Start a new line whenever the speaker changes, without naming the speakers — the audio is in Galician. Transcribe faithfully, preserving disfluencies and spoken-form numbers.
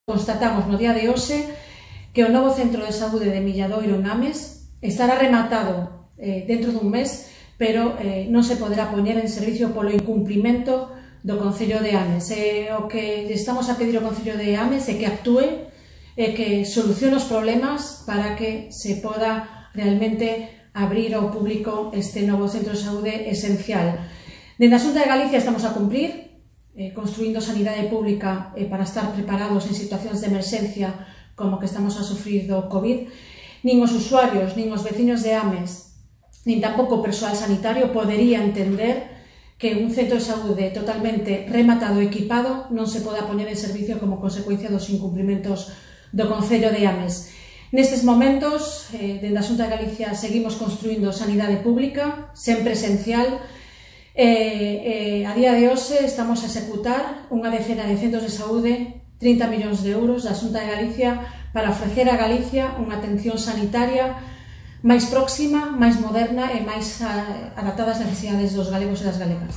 Constatamos no día de hoxe que o novo centro de saúde de Milladoiro en Ames estará rematado eh, dentro dun mes, pero eh, non se poderá poñer en servicio polo incumprimento do Concello de Ames. E o que estamos a pedir ao Concello de Ames é que actúe e que solucione os problemas para que se poda realmente abrir ao público este novo centro de saúde esencial. Dende a Xunta de Galicia estamos a cumprir, eh, construindo sanidade pública eh, para estar preparados en situacións de emerxencia como que estamos a sufrir do COVID. Nin os usuarios, nin os veciños de Ames, nin tampouco o persoal sanitario podería entender que un centro de saúde totalmente rematado e equipado non se poda poñer en servicio como consecuencia dos incumprimentos do Concello de Ames. Nestes momentos, eh, dende a Xunta de Galicia seguimos construindo sanidade pública, sempre esencial. Eh, eh, a día de hoxe estamos a executar unha decena de centros de saúde, trinta millóns de euros da Xunta de Galicia para ofrecer a Galicia unha atención sanitaria máis próxima, máis moderna e máis adaptada ás necesidades dos galegos e das galegas.